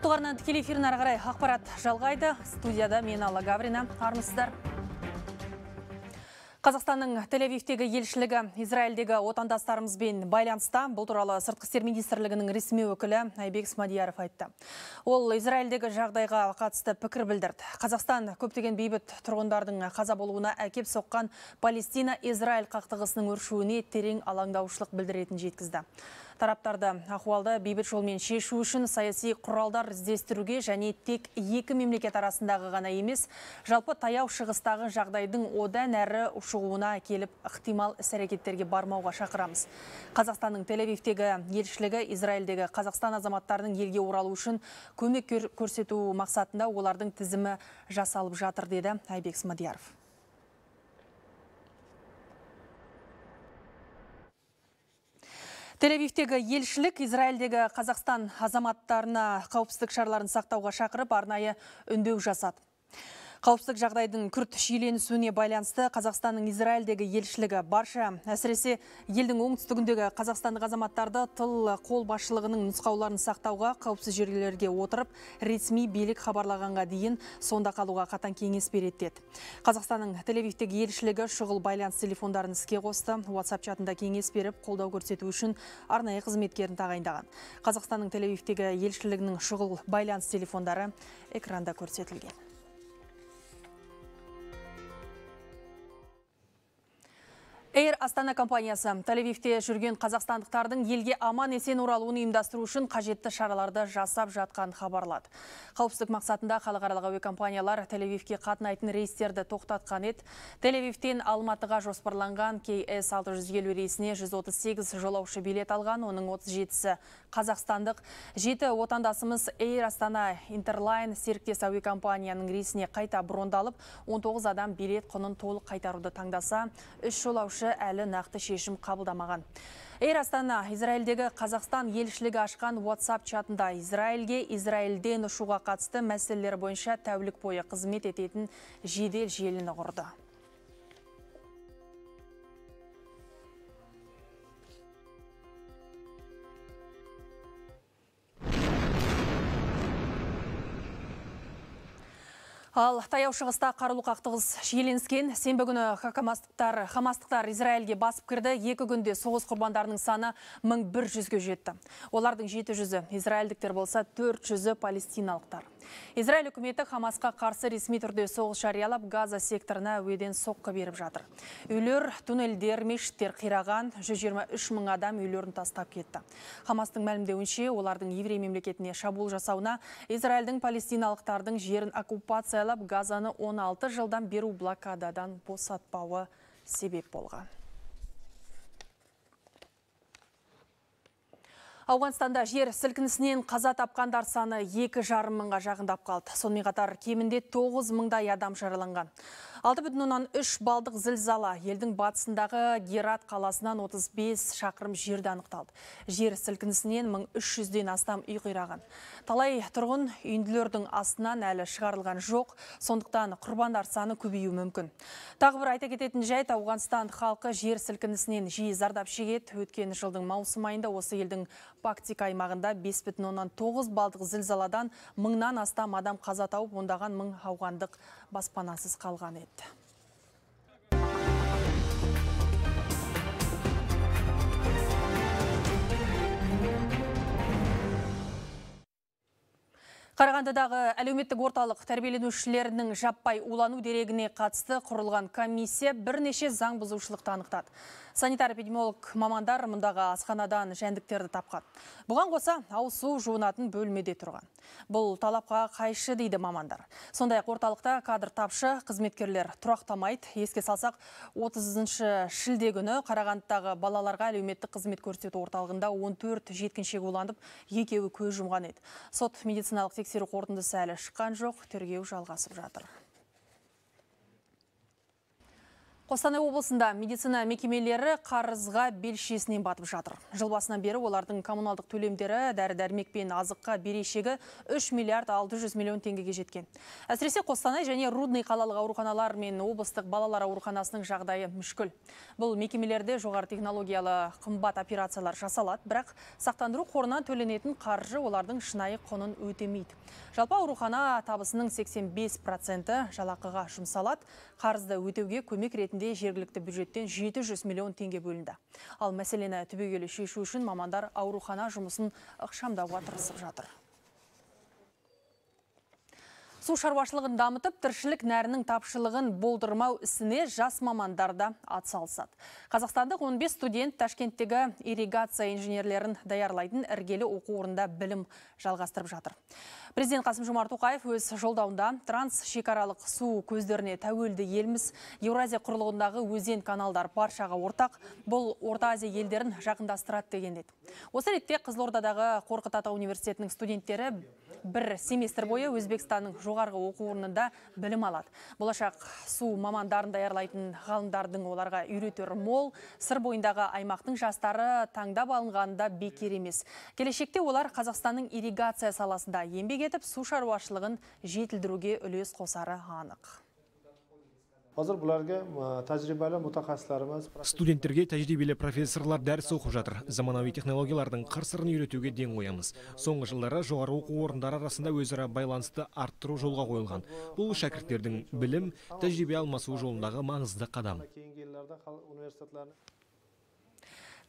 Ұлттық арнаның тікелей эфирін ары қарай ақпарат жалғайды. Студияда мен Алла Гаврина. Армысыздар. Қазақстанның Тель-Авивтегі елшілігі Израильдегі отандастарымызбен байланыста. Бұл туралы Сыртқы істер министрлігінің ресми өкілі Айбек Смадияров айтты. Ол Израильдегі жағдайға қатысты пікір білдірді. Қазақстан көптеген бейбіт тұрғындардың қаза болуына әкеп соққан Палестина-Израиль қақтығысының өршуіне терең алаңдаушылық білдіретін жеткізді. Тараптарды ахуалды бейбіт жолмен шешу үшін саяси құралдар іздестіруге және тек екі мемлекет арасындағы ғана емес, жалпы таяу шығыстағы жағдайдың одан әрі ушығуына келіп ықтимал іс-әрекеттерге бармауға шақырамыз. Қазақстанның Тель-Авивтегі елшілігі Израильдегі Қазақстан азаматтарының елге оралу үшін көмек көрсету мақсатында олардың тізімі жасалып жатыр, деді Айбек Смадияров. Тель-Авивтегі елшілік Израильдегі Қазақстан азаматтарына қауіпсіздік шараларын сақтауға шақырып арнайы үндеу жасады. Қауіпсіздік жағдайдың күрт шиеленісуіне байланысты Қазақстанның Израильдегі елшілігі барша, әсіресе елдің оңтүстігіндегі қазақстандық азаматтарды тыл қол басшылығының нұсқауларын сақтауға, қауіпсіз жерлерге отырып, ресми билік хабарлағанға дейін сонда қалуға қатаң кеңес береді деді. Қазақстанның Тель-Авивтегі елшілігі шұғыл байланыс телефондарын іске қосты, WhatsApp чатында кеңес беріп, қолдау көрсету үшін арнайы қызметкерін тағайындаған. Қазақстанның Тель-Авивтегі елшілігінің шұғыл байланыс телефондары экранда көрсетілген. Air Астана компаниясы Тель-Авивте жүрген қазақстандықтардың елге аман есен оралуын ұйымдастыру үшін қажетті шараларды жасап жатқан хабарлады. Қауіпсіздік мақсатында халықаралық әуе компаниялар Тель-Авивке қатынайтын рейстерді тоқтатқан еді. Тель-Авивтен Алматыға жоспарланған KS 650 рейсіне 138 жолаушы билет алған, оның 37-сі қазақстандық. 7 отандасымыз Air Астана Интерлайн серіктес әуе компанияның рейсіне қайта брондалып, 19 адам билет құнын толық қайтаруды таңдаса, 3 жолаушы әлі нақты шешім қабылдамаған. Air Астана Израильдегі Қазақстан елшілігі ашқан WhatsApp чатында Израильден ұшуға қатысты мәселелер бойынша тәулік бойы қызмет ететін жедел желіні құрды. Ал таяу шығыста қарулы қақтығыс шиеленіскен. Сенбі күні Хамастықтар Израильге басып кірді. 2 күнде соғыс құрбандарының саны 1100-ге жетті. Олардың 700-і израильдіктер болса, 400-і палестиналықтар. Израиль үкіметі Хамасқа қарсы ресми түрде соғыс жариялап, Газа секторына әуеден соққы беріп жатыр. Үйлер, туннельдер, мешіттер қираған, 123 мың адам үйлерін тастап кетті. Хамастың мәлімдеуінше, олардың еврей мемлекетіне шабуыл жасауына Израильдің палестиналықтардың жерін оккупациялап, Газаны 16 жылдан беру блокададан босатпауы себеп болған. Ауғанстанда жер сілкінісінен қаза тапқандар саны 2,5 мыңға жақындап қалды. Сонымен қатар кемінде 9 мыңдай адам жараланған. 6,3 балдық зілзала елдің батысындағы Герат қаласынан 35 шақырым жерде анықталды. Жер сілкінісінен 1300-ден астам үй қираған. Талай тұрғын үйінділердің астынан әлі шығарылған жоқ, сондықтан құрбандар саны көбеюі мүмкін. Тағы бір айта кететін жайт, Ауғанстан халқы жер сілкінісінен жиі зардап шегеді. Өткен жылдың маусым айында осы елдің Пактика аймағында 5,9 балдық зілзаладан 1000-нан астам адам қаза тауып, ондаған мың ауғандық баспанасыз қалған еді. Қарағандыдағы әлеуметтік орталық тәрбиеленушілерінің жаппай улану дерегіне қатысты құрылған комиссия бірнеше заң бұзушылықты анықтады. Санитар-эпидемиолог мамандар мұндағы асханадан жәндіктерді тапқан. Бұған қоса ауыз су жуынатын бөлмеде тұрған. Бұл талапқа қайшы дейді мамандар. Сондай-ақ орталықта кадр тапшы, қызметкерлер тұрақтамайды. Еске салсақ, 30 шілде күні Қарағандыдағы балаларға әлеуметтік қызмет көрсету орталығында 14 жеткіншек уланып, 2-еуі көз жұмған еді. Сот медициналық тексеру қорытындысы әлі шыққан жоқ, тергеу жалғасып жатыр. Қостанай облысында медицина мекемелері қарызға белшесінен батып жатыр. Жыл басынан бері олардың коммуналдық төлемдері дәрі-дәрмек пен азыққа берешегі 3 миллиард 600 миллион теңгеге жеткен. Әсіресе Қостанай және Рудный қалалық ауруханалар мен облыстық балалар ауруханасының жағдайы мүшкіл. Бұл мекемелерде жоғары технологиялы қымбат операциялар жасалады, бірақ сақтандыру қорынан төленетін қаржы олардың шынайы құнын өтемейді. Жалпы аурухана табысының 85% жалақыға жұмсалады. Қарызды өтеуге көмек ретінде жергілікті бюджеттен 700 миллион теңге бөлінді. Ал мәселені түбегейлі шешу үшін мамандар аурухана жұмысын ықшамдауға тырысып жатыр. Су шаруашылығын дамытып, тіршілік нәрінің тапшылығын болдырмау ісіне жас мамандарда атсалысады. Қазақстандық 15 студент Ташкенттегі ирригация инженерлерін даярлайтын іргелі оқу орнында білім жалғастырып жатыр. Президент Қасым-Жомарт Тоқаев өз жолдауында трансшекаралық су көздеріне тәуелді елміз, Еуразия құрлығындағы өзен каналдар баршаға ортақ, бұл Орта Азия елдерін жақындастырады деген еді. Осы ретте Қызылордадағы Қорқыт Ата университетінің студенттері бір семестр бойы Өзбекстанның жоғарғы оқу орнында білім алады. Болашақ су мамандарын даярлайтын ғалымдардың оларға үйретер мол, сыр бойындағы аймақтың жастары таңдап алынғанында бекер емес. Келешекте олар Қазақстанның ирригация саласында еңбек етіп, су шаруашылығын жетілдіруге үлес қосары анық. Hozir bularga tajribali mutaxassislarimiz, студенттерге тәжірибелі профессорлар дәріс оқып жатыр. Заманауи технологиялардың қыр-сырын үйретуге ден қоямыз. Соңғы жылдары жоғары оқу орындары арасында өзара байланысты арттыру жолға қойылған. Бұл шәкірттердің білім, тәжірибе алмасу жолындағы маңызды қадам.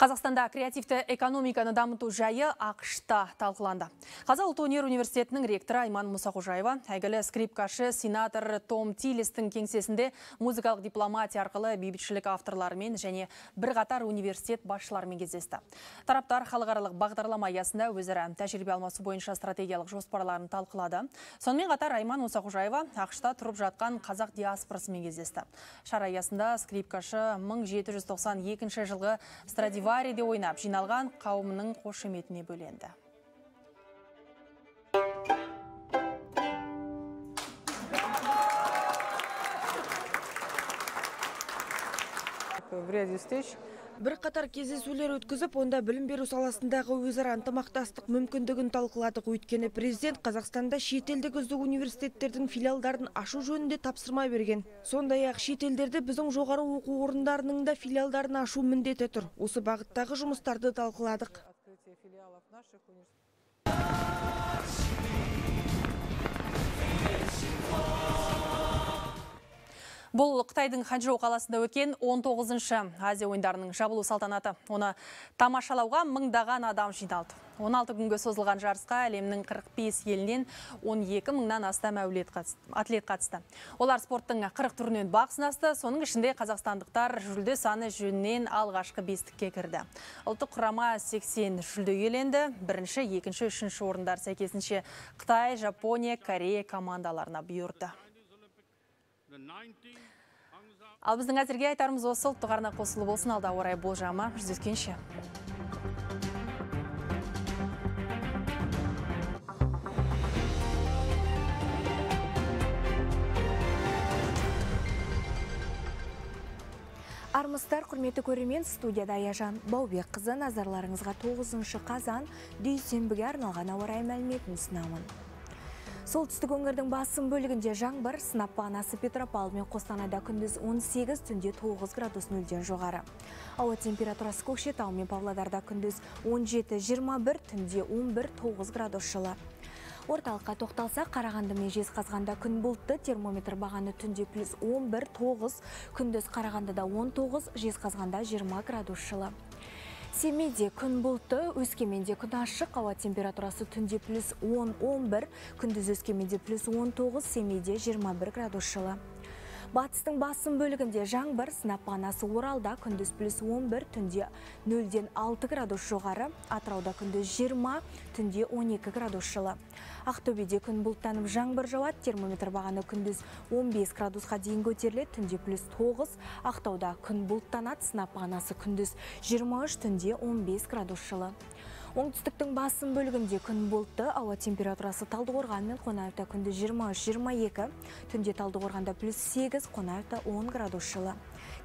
Қазақстанда креативті экономиканы дамыту жайы ақшта талқыланды. Қазақ ұлттық өнер университетінің ректоры Айман Мұсақожаева, әйгілі скрипкашы сенатор Том Тилистің кеңсесінде музыкалық дипломатия арқылы бейбітшілік авторларымен және бірқатар университет басшыларымен кездесті. Тараптар халықаралық бағдарлама аясында өзара тәжірибе алмасу бойынша стратегиялық жоспарларын талқылады. Сонымен қатар Айман Мұсақожаева ақшта тұрып жатқан қазақ диаспорасымен кездесті. Шара аясында скрипкашы 1792 жылғы Страдивариде ойнап жиналған қауымның қошеметіне бөленді. Бірқатар кездесулер өткізіп, онда білім беру саласындағы өзара ынтымақтастық мүмкіндігін талқыладық. Өйткені президент Қазақстанда шетелдік үздік университеттердің филиалдарын ашу жөнінде тапсырма берген. Сондай-ақ шетелдерде біздің жоғары оқу орындарының да филиалдарын ашу міндеті тұр. Осы бағыттағы жұмыстарды талқыладық. Бұл Қытайдың Ханчжоу қаласында өткен 19-шы Азия ойындарының жабылу салтанаты. Оны тамашалауға мыңдаған адам жиналды. 16 күнге созылған жарысқа әлемнің 45 елінен 12 мыңнан астам атлет қатысты. Олар спорттың 40 түрінен бақ сынасты. Соның ішінде қазақстандықтар жүлде саны жөнінен алғашқы бестікке кірді. Ұлттық құрама 80 жүлде иеленді. Бірінші, екінші, үшінші орындар сәйкесінше Қытай, Жапония, Корея командаларына бұйырды. Ал біздің әзірге айтарымыз осы. Ұлттық арна қосылы болсын, алда орай болжамы жүздескенше. Армыстар, құрметті көрермен, студияда Аяжан Баубек қызы, назарларыңызға 9 қазан дүйсенбіге арналған ауа райы мәліметін ұсынамын. Солтүстік өңірдің басым бөлігінде жаңбыр, сынап бағанасы Петропавл мен Қостанайда күндіз 18, түнде 9 градус нөлден жоғары. Ауа температурасы Көкшетау мен Павлодарда күндіз 17-21, түнде 11-9 градус жылы. Орталыққа тоқталса, Қарағанды мен Жезқазғанда күн бұлтты, термометр бағаны түнде плюс 11-9, күндіз Қарағандыда 19, Жезқазғанда 20 градус жылы. Семейде күн бұлтты, Өскеменде күн ашық, ауа температурасы түнде плюс 10-11, күндіз Өскеменде плюс 19, Семейде 21 градус жылы. Батыстың басым бөлігінде жаңбыр, сынап бағанасы Оралда күндіз плюс 11, түнде 0-ден 6 градус жоғары, Атырауда күндіз 20, түнде 12 градус жылы. Ақтөбеде күн бұлттанып жаңбыр жауады, термометр бағаны күндіз 15 градусқа дейін көтеріледі, түнде плюс 9, Ақтауда күн бұлттанады, сынап бағанасы күндіз 23, түнде 15 градус жылы. Оңтүстіктің басым бөлігінде күн бұлтты, ауа температурасы Талдықорған мен Қонаевта күндіз 23-22, түнде Талдықорғанда +8, Қонаевта 10 градус жылы.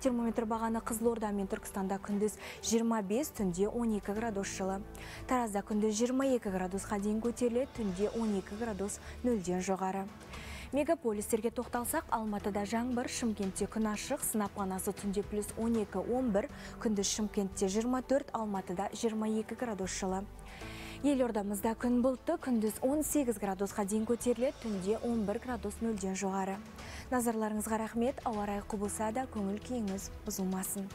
Термометр бағаны Қызылорда мен Түркістанда күндіз 25, түнде 12 градус жылы. Таразда күндіз 22 градусқа дейін көтеріледі, түнде 12 градус нөлден жоғары. Мегаполистерге тоқталсақ, Алматыда жаңбыр, Шымкентте күн ашық, сынап бағанасы түнде +12-11, күндіз Шымкентте 24, Алматыда 22 градус жылы. Елордамызда күн бұлтты, күндіз 18 градусқа дейін көтеріледі, түнде 11 градус нөлден жоғары. Назарларыңызға рахмет, ауа райы құбылса да көңіл күйіңіз бұзылмасын.